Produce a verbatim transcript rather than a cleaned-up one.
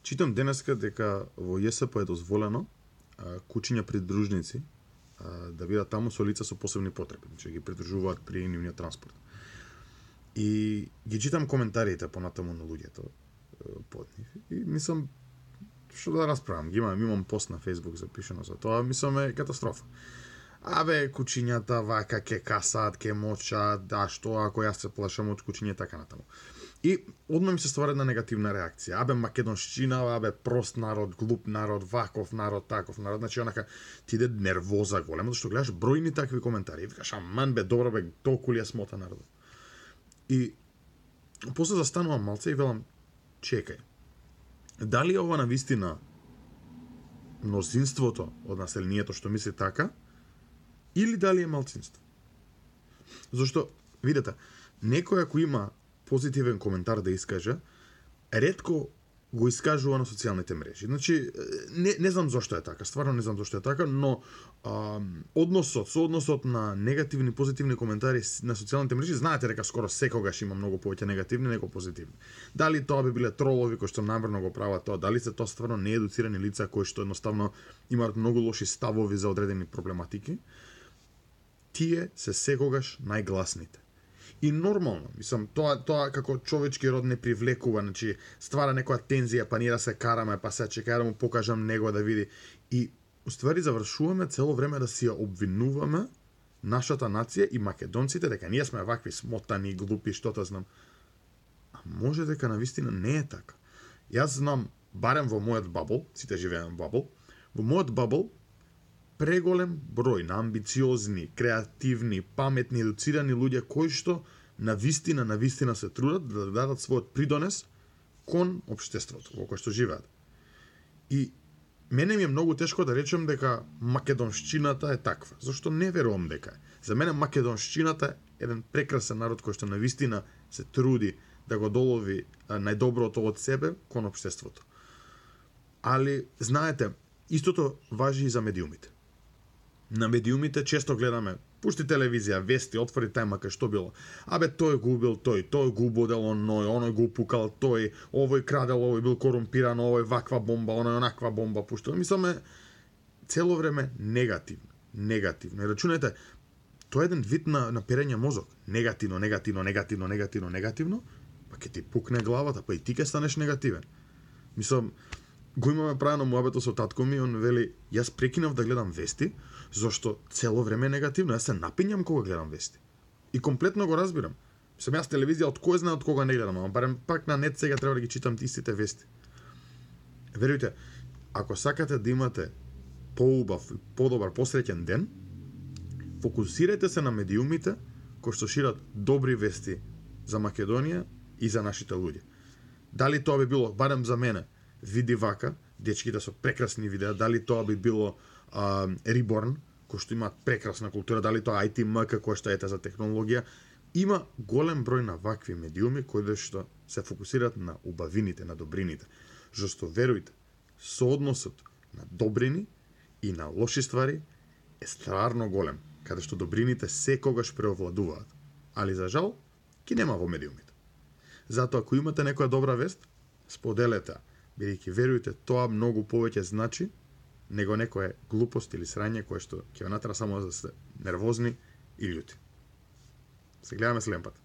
Читам денеска дека во ЈСП е дозволено а, кучиња придружници а, да бидат таму со лица со посебни потреби, значи ги придружуваат при нивниот транспорт. И ги читам коментарите понатаму на луѓето под нив и мислам што да расправам, ги имам, имам пост на Facebook запишано за тоа, мислам е катастрофа. Абе, кучињата вака ке касаат, ке мочат, да што ако јас се плашам од кучиња така натаму. И одма ми се ствара една негативна реакција. Абе, македоншчина, абе, прост народ, глуп народ, ваков народ, таков народ. Значи, онака, ти иде нервоза голема, зашто гледаш бројни такви коментари. И викаш, аман бе, добро бе, толку ли е смота народот. И после застанувам малце и велам, чекај, дали ова навистина мнозинството од населението што мисли така, или дали е малцинство? Зашто, видете, некој ако има позитивен коментар да искаже, ретко го искажува на социјалните мрежи. Значи, не, не знам зошто е така, стварно не знам зошто е така, но а, односот, соодносот на негативни и позитивни коментари на социјалните мрежи, знаете дека скоро секогаш има многу повеќе негативни него позитивни. Дали тоа би биле тролови кои што намерно го прават тоа, дали се тоа стварно неедуцирани лица кои што едноставно имаат многу лоши ставови за одредени проблематики, тие се секогаш најгласните. И нормално, мислам, тоа тоа како човечки род не привлекува, значи ствара некоја тензија, па ние да се караме, па се чекај да му покажам него да види. И уствари завршуваме цело време да си ја обвинуваме нашата нација и македонците дека ние сме вакви смотани, глупи, што та знам. А може дека навистина не е така. Јас знам, барем во мојот бабл, сите живееме во бабл, во мојот бабл преголем број на амбициозни, креативни, паметни, едуцирани луѓе кои што на вистина, на вистина се трудат да дадат својот придонес кон општеството во кое што живеат. И мене ми е многу тешко да речем дека македоншчината е таква, зашто не верувам дека е. За мене македоншчината е еден прекрасен народ кој што на вистина се труди да го долови најдоброто од себе кон општеството. Али, знаете, истото важи и за медиумите. На медиумите често гледаме, пушти телевизија, вести, отвори тајмака, што било. Абе, тој губил тој, тој го убодел оној, оној го упукал тој, овој крадел, овој бил корумпиран, овој ваква бомба, оној онаква бомба пуштил. Мисламе, цело време негативно, негативно. И рачунете, тоа е еден вид на, на перење мозок. Негативно, негативно, негативно, негативно, негативно, па ќе ти пукне главата, па и ти ќе станеш негативен. Мислам, го имаме правено муабето со татко ми, он вели, јас прекинав да гледам вести, зашто цело време е негативно, јас се напињам кога гледам вести. И комплетно го разбирам. Сам јас телевизија од кој знае од кога не гледам, ама барем пак на нет сега треба да ги читам истите вести. Верујте, ако сакате да имате поубав, подобар, посреќен ден, фокусирајте се на медиумите кои што шират добри вести за Македонија и за нашите луѓе. Дали тоа би било, барем за мене, види вака, дечките со прекрасни видеа, дали тоа би било uh, Reborn, кој што имаат прекрасна култура, дали тоа ай ти ем ка кој што ете за технологија, има голем број на вакви медиуми кои што се фокусираат на убавините, на добрините. Зашто верујте, соодносот на добрини и на лоши ствари е стварно голем, каде што добрините секогаш преовладуваат. Али за жал, ки нема во медиумите. Затоа ако имате некоја добра вест, споделете, бидејќи верујте, тоа многу повеќе значи него некоја глупост или срање кое што ќе ве натера само да сте нервозни и љути. Се гледаме следен пат.